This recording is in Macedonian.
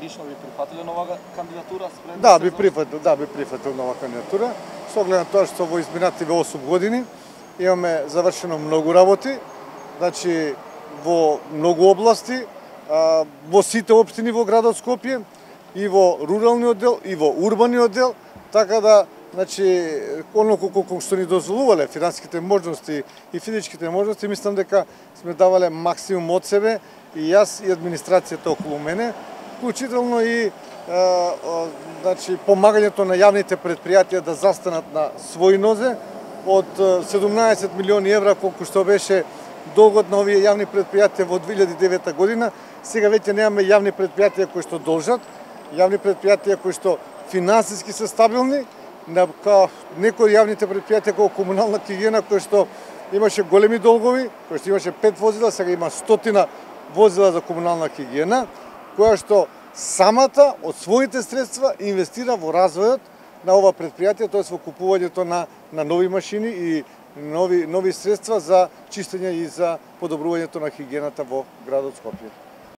лично би прифатиле нова кандидатура спрем? Да, би прифатил нова кандидатура. Со оглед на тоа што во изминативе 8 години имаме завршено многу работи, значи во многу области, во сите општини во градот Скопје, и во руралниот дел, и во урбаниот дел, така да, значи, оноко колку што ни дозволувале финансиските можности и физичките можности, мислам дека сме давале максимум од себе, и јас и администрацијата околу мене, вклучително и значи, помагањето на јавните предпријатија да застанат на своји нозе, од 17 милиони евра колку што беше долгот на овие јавни предпријатија во 2009 година, сега веќе немаме јавни предпријатија кои што должат, јавни предпријатија кои што финансиски се стабилни, некои јавните предпријатија како комунална хигиена кои што имаше големи долгови, кои што имаше 5 возила, сега има 100 возила за комунална хигиена, која што самата од своите средства инвестира во развојот на ова предпријатие, тоа во купувањето на нови машини и нови средства за чистење и за подобрувањето на хигиената во градот Скопје.